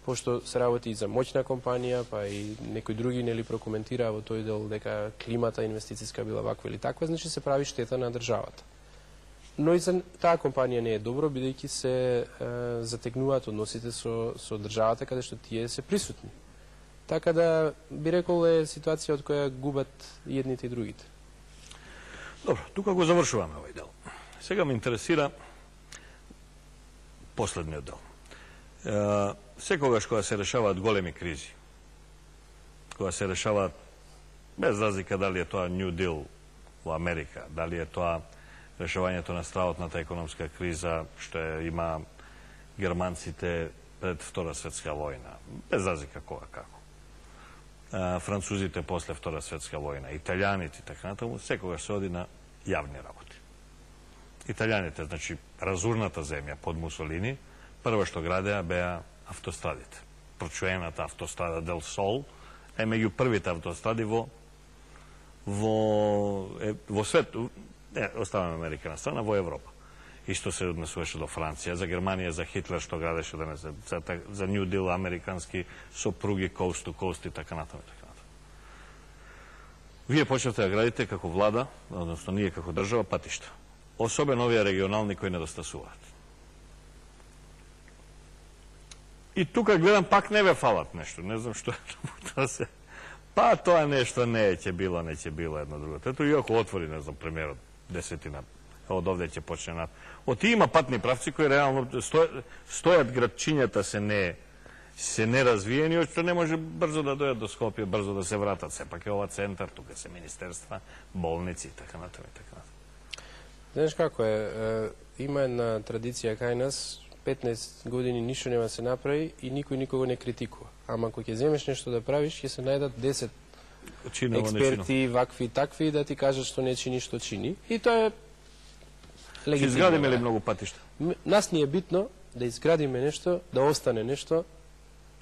пошто се работи и за моќна компанија, па и некои други нели прокоментираа во тој дел дека климата инвестициска била ваква или таква, значи се прави штета на државата. Но и за таа компанија не е добро, бидејќи се затегнуваат односите со државата каде што тие се присутни. Така да би рекол е ситуација од која губат и едните и другите. Добро, тука го завршуваме овој дел. Сега ме интересира последниот дел. Секогаш кога се решаваат големи кризи, кога се решаваат, без разлика дали е тоа New Deal во Америка, дали е тоа решавањето на стравотната економска криза што има германците пред Втора светска војна, без разлика кога како. Французите после Втора светска војна, италијаните и така натаму, секогаш се оди на јавни работи. Италијаните, значи, разурната земја под Мусолини, прво што градеа беа автострадите. Прочуената автострада Дел Сол е меѓу првите автостради во свету, оставаме Америка на страна, во Европа. Исто се однесуваше до Франција, за Германија, за Хитлер што градеше за New Deal американски сопруги, coast to coast и така натаму. Вие почнавте да градите како влада, односно ние како држава, патишта. Особено овие регионални кои недостасуваат. И тука гледам пак не ве фалат нешто, не знам што е се. Па тоа нешто не ќе било едно друго. Ето и ако отвори, не знам, премиерот, 10 од овде ќе почне на... Оти има патни правци кои реално стојат градчињата се неразвиени, што не може брзо да дојат до Скопје, брзо да се вратат. Сепак е ова центар, тука се министерства, болници и така натаму и така натаму. Знаеш како е, има една традиција кај нас, 15 години ништо нема се направи и никој никого не критикува. Ама ако ќе земеш нешто да правиш, ќе се најдат 10 експерти, вакви и такви, да ти кажат што не чини, што чини. И тоа е легитимно. Ќе изградиме ли многу патишта? Нас ни е битно да изградиме нешто, да остане нешто,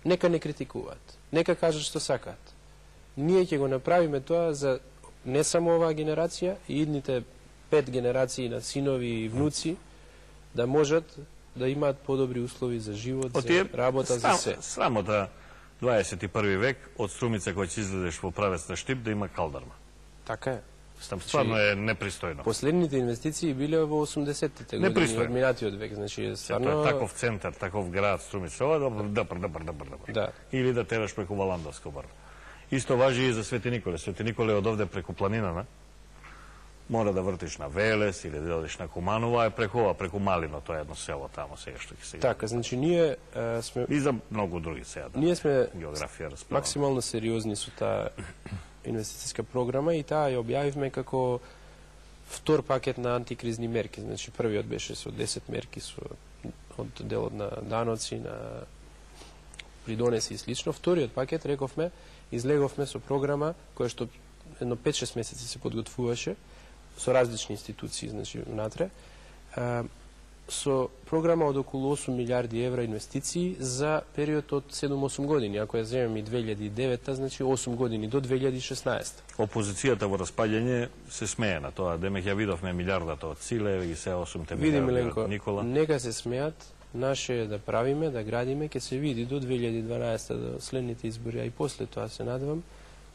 нека не критикуваат, нека кажат што сакаат. Ние ќе го направиме тоа за не само оваа генерација, и идните 5 генерации на синови и внуци, да можат да имаат подобри услови за живот, за работа, за се. Срамота 21 век од Струмица кој ќе излезеш во правец на Штип да има калдарма. Така е. Стварно е непристојно. Последните инвестиции биле во 80-тите години од минатиот век, значи стварно таков центар, таков град Струмица, ова добар. Да. Или да тераш преку Валандовско бар. Исто важи и за Свети Николе. Свети Николе од овде преку планинана мора да вртиш на Велес или да одиш на Куманово, а преку Малино, тоа е едно село тамо сега што ќе се. Така, значи ние сме и за многу други сега. Ние сме географија максимално сериозни со таа инвестициска програма и таа ја објавивме како втор пакет на антикризни мерки. Значи првиот беше со 10 мерки од делот на даноци, на придонеси и слично. Вториот пакет, рековме, излеговме со програма која што едно 5-6 месеци се подготвуваше со различни институции, значи внатре, со програма од околу 8 милиарди евра инвестиции за период од 7-8 години. Ако ја земем и 2009, значи 8 години до 2016. Опозицијата во распаѓање се смее на тоа. Демек ја видовме милиардата од Силе и се 8 милиарди од Никола. Нека се смеат, наше е да правиме, да градиме, ќе се види до 2012 до следните избори, а и после тоа се надевам,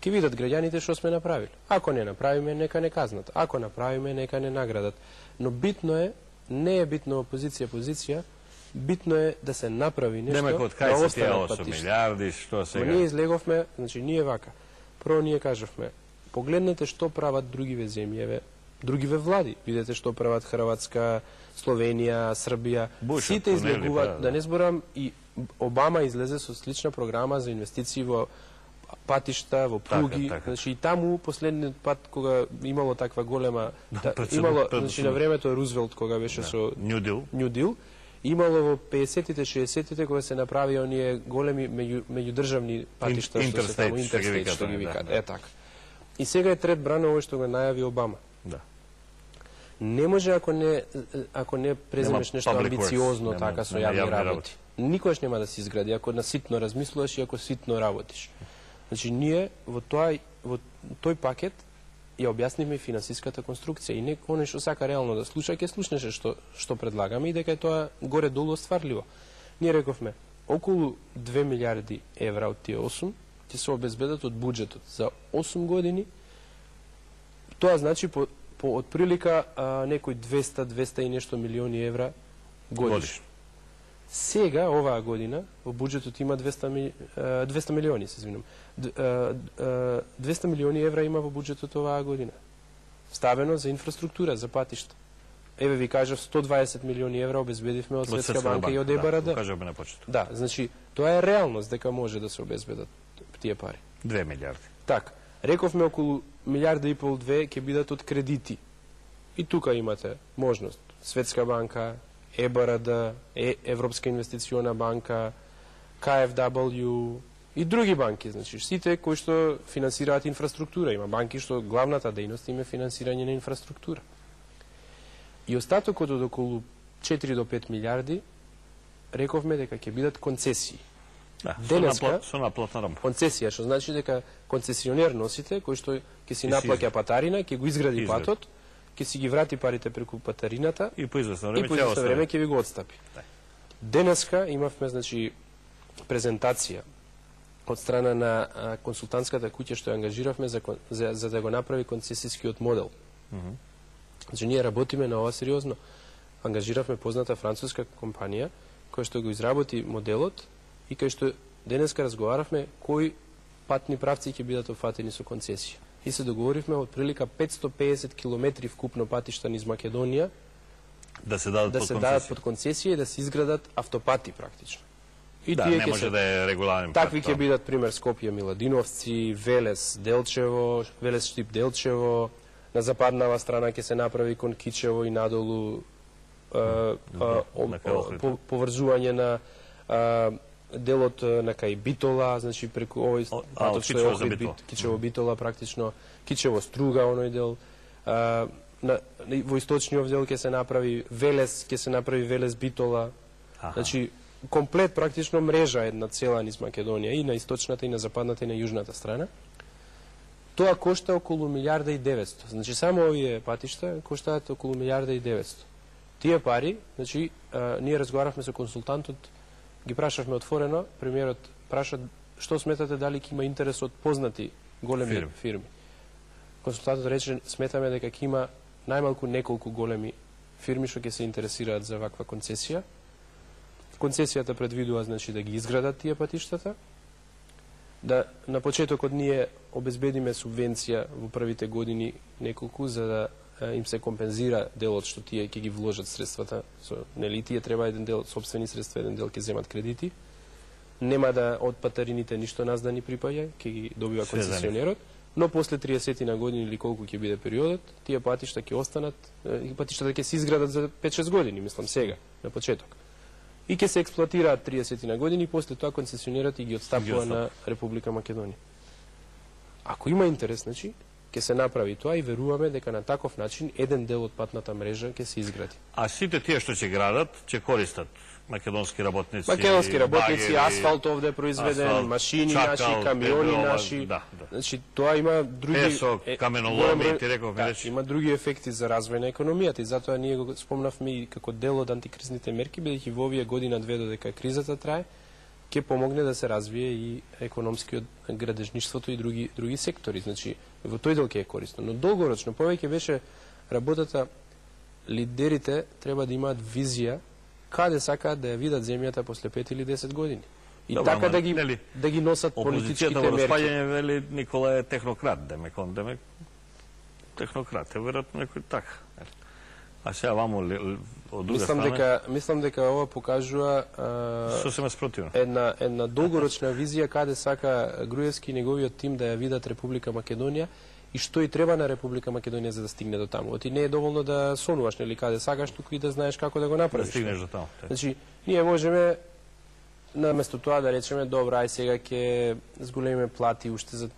ќе видат граѓаните што сме направили. Ако не направиме, нека не казнат. Ако направиме, нека не наградат. Но битно е, не е битно опозиција, битно е да се направи нешто, да останат патишта. 8 милиарди, што сега? Но ние излеговме, значи ние вака. Прво ние кажавме, погледнете што прават другиве земји, другиве влади. Видете што прават Хрватска, Словенија, Србија. Сите излегуваат, да не зборам, и Обама излезе со слична програма за инвестиции во патишта, во пруги, значи и таму последниот пат кога имало таква голема, имало, значи на времето Рузвелт кога беше со New Deal, имало во 50-тите, 60-тите кога се направи оние големи меѓудржавни патишта што се таму интерстейт што ги викаат. Е така. И сега е трет брана овој што го најави Обама. Да. Не може ако не преземеш нешто амбициозно така со јавни работи. Никогаш нема да се изгради ако на ситно размислуваш и ако ситно работиш. Значи, ние во тој пакет ја објаснивме финансиската конструкција и оној што сака реално да слуша, ќе слушнеше што предлагаме и дека е тоа горе-долу остварливо. Ние рековме, околу 2 милиарди евра од тие 8 ќе се обезбедат од буџетот за 8 години. Тоа значи по отприлика некои 200 и нешто милиони евра годишно. Сега, оваа година, во буџетот има 200 милиони, се извинам. 200 милиони евра има во буџетот оваа година. Ставено за инфраструктура, за патишта. Еве ви кажав, 120 милиони евра обезбедивме од Светска банка и од ЕБРД. Да, кажавме на почеток. Да, значи, тоа е реалност дека може да се обезбедат тие пари. 2 милиарди. Така, рековме околу милиарда и пол 2 ќе бидат од кредити. И тука имате можност. Светска банка, ЕБРД, Европска инвестициона банка, KfW и други банки, значи сите кои што финансираат инфраструктура. Има банки што главната дејност им е финансирање на инфраструктура. И остатокот од околу 4 до 5 милиарди рековме дека ќе бидат концесии. Да, денеска со наплатна рамка. Концесија, што значи дека концесионер носите кој што ќе си наплаќа патарина, ќе го изгради патот, ќе си ги врати парите преку патарината и по известно време ќе ви го отстапи. Да. Денеска имавме значи презентација од страна на консултантската куќа што ја ангажиравме за да го направи концесискиот модел. Значи ние работиме на ова сериозно. Ангажиравме позната француска компанија која што го изработи моделот и кај што денеска разговаравме кои патни правци ќе бидат опфатени со концесија. И се договоривме од прилика 550 километри вкупно патишта низ Македонија да се дадат под концесија и да се изградат автопати практично. И да, не може да е регуларен пат. Такви ќе бидат пример Скопје Миладиновци, Велес Делчево, Велес Штип Делчево, на западнава страна ќе се направи кон Кичево и надолу поврзување на делот на кај Битола, значи преку овој патот што е Охрид Кичево Битола практично, Кичево Струга оној дел. Во источниот дел ќе се направи Велес, ќе се направи Велес Битола. Значи комплет практично мрежа една цела низ Македонија и на источната и на западната и на јужната страна. Тоа кошта околу милиарда и 900. Значи само овие патишта коштаат околу милиарда и 900. Тие пари, значи ние разговаравме со консултантот, ги прашавме отворено, премиерот праша што сметате дали ќе има интерес од познати големи фирми. Консултантот рече сметаме дека ќе има најмалку неколку големи фирми што ќе се интересираат за ваква концесија. Концесијата предвидува значи да ги изградат тие патиштата, да на почетокот ние обезбедиме субвенција во првите години неколку за да им се компензира делот што тие ќе ги вложат средствата, нели тие треба еден дел сопствени средства, еден дел ќе земат кредити. Нема да од патарините ништо нас да ни припаѓа, ќе ги добива концесионерот, но после 30 на години или колку ќе биде периодот, тие патишта ќе останат, патиштата ќе се изградат за 5-6 години, мислам сега, на почеток. И ќе се експлоатираат 30 на години, после тоа концесионерот и ги отстапува на Република Македонија. Ако има интерес, значи, ќе се направи тоа и веруваме дека на таков начин еден дел од патната мрежа ќе се изгради. А сите тие што ќе градат, ќе користат македонски работници. Македонски работници, асфалт овде е произведен, машини наши, камиони наши. Значи тоа има други песок, каменоломи, ти рековме речи. Има други ефекти за развој на економијата и затоа ние го спомнавме и како дел од антикризните мерки, бидејќи во овие година-две додека кризата трае, ќе помогне да се развие и економскиот градежништвото и други сектори. Значи во тој дел ќе е корисно, но долгорочно повеќе беше работата, лидерите треба да имаат визија каде сакаат да ја видат земјата после 5 или 10 години. И добра, така да ги носат политичките мерки. Опозицијата во распаѓање вели Никола е технократ, демек технократ е веројатно некој така. А сега ваму од друга страна мислам дека ова покажува сосема спротивно. Една долгорочна визија каде сака Груевски и неговиот тим да ја видат Република Македонија и што и треба на Република Македонија за да стигне до таму. Оти не е доволно да сонуваш нели каде сакаш, туку и да знаеш како да го направиш. Да стигнеш до таму. Значи, ние можеме наместо тоа да речеме добро, ај сега ќе зголемиме плати уште за